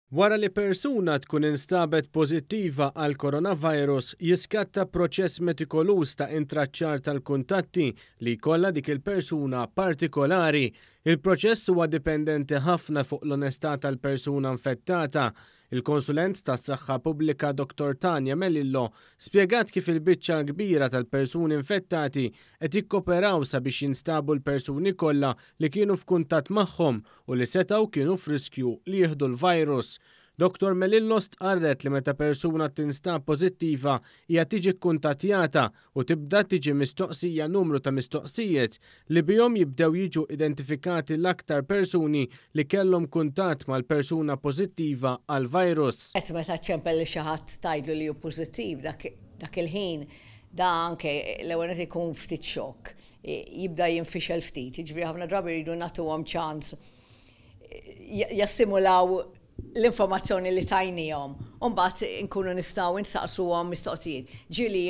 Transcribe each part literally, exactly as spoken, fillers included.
Wara li persuna tkun instabet pożittiva għal coronavirus, jiskatta proċess metikoluż ta' intraċċar tal-kuntatti li jkollha dik il-persuna partikolari. Il-proċess huwa dipendenti ħafna fuq l-onestà tal-persuna infettata. Il-konsulent tas-saħħa pubblika Doktor Tania Melillo spjegat kif il-biċċa kbira tal-persuni infettati qed jikkoperaw sabiex jinstabu l-persuni kollha li kienu f'kuntatt magħhom u li setgħu kienu f'riskju li jieħdu l-virus. Doktor Melillo stqarret li meta persuna tinstab pożittiva hija tiġi kkuntattjata u tibda tiġi mistoqsija numru ta' mistoqsijiet li bihom jibdew jiġu identifikati l-aktar persuni li kellhom kuntatt mal-persuna pożittiva għal-virus. Qed meta ċempel li xi ħadd tgħidlu li hu pożittiv dak, dak il-ħin da anke l-ewwel qed ikun ftit xokk, jibda jinfixel ftit, jiġifieri ħafna drabi jridu nagħtuhom ċans jassimulaw l-informazzjoni li tajnihom. U mbagħad inkunu nistgħu nsaqsuhom mistoqsijiet. Ġieli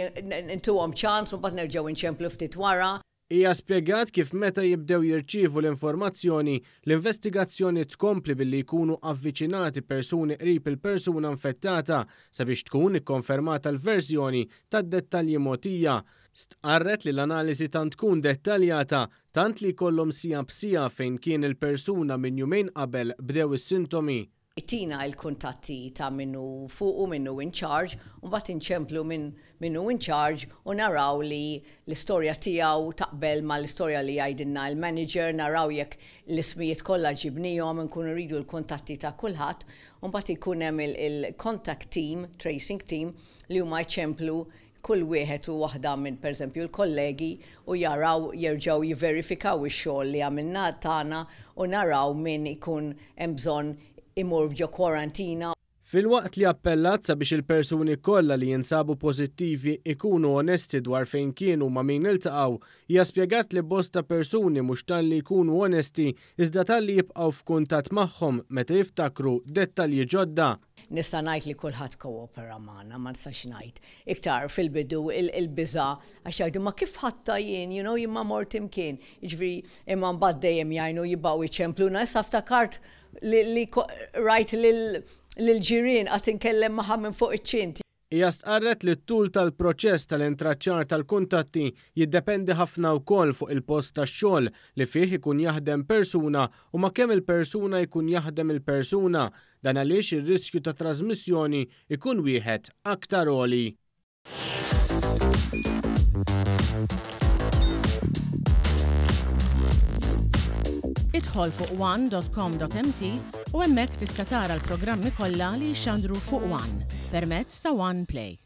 ntuhom ċans u mbagħad nerġgħu nċemplu ftit wara. Hija spjegat kif meta jibdew jirċievu l-informazzjoni, l-investigazzjoni tkompli billi jkunu avviċinati persuni qrib il-persuna infettata sabiex tkun ikkonfermata l-verżjoni tad-dettalji mogħtija. Stqarret li l-analiżi tant tkun dettaljata tant li jkollhom sija b'sija fejn kien il-persuna minn jumejn qabel bdew is-sintomi. Tina il-kuntatti ta' minnu fuq u minnu in charge, u mbagħad inċemplu minn minnu in charge u naraw li l-istorja tiegħu taqbel ma l-istorja li jgħidilna l-manager, naraw jekk l-ismijiet kollha ġibnihom, nkunu rridu l-kuntatti ta' kulħadd, u mbagħad ikun hemm il-contact team, tracing team, li huma jċemplu kull wieħed u waħda minn pereżempju l-kollegi u jaraw jerġgħu jiverifikaw ix-xogħol li għamilna tagħna u naraw min ikun hemm bżonn imur ġo kwarantina. Filwaqt li appellat sabiex il-persuni kollha li jinsabu pożittivi ikunu onesti dwar fejn kienu ma' min iltaqgħu, hija spjegat li bosta persuni mhux talli jkunu onesti iżda talli jibqgħu f'kuntatt magħhom meta jiftakru dettalji ġodda. Nista' ngħid li kulħadd koopera magħna, ma nistax ngħid. Iktar fil-bidu il-biża' għax jgħidu ma kif ħatta jien, you know, jien ma mort imkien. Jiġifieri imma mbagħad dejjem jgħinu jibgħu jċempluna, issa ftakart li, li rajt lil-ġirien qatt inkellem magħha minn fuq iċ-ċint. Hija stqarret li t-tul tal-proċess tal-intraċċar tal-kuntatti jiddependi ħafna wkoll fuq il-post tax-xogħol li fih ikun jaħdem persuna u ma' kemm il-persuna jkun jaħdem il-persuna, dan għaliex ir-riskju ta' trasmissjoni ikun wieħed aktar għoli. Idħol fuq one dot com dot m t u hemmhekk tista' tara l-programmi kollha li jxandru fuq One permezz ta' One Play.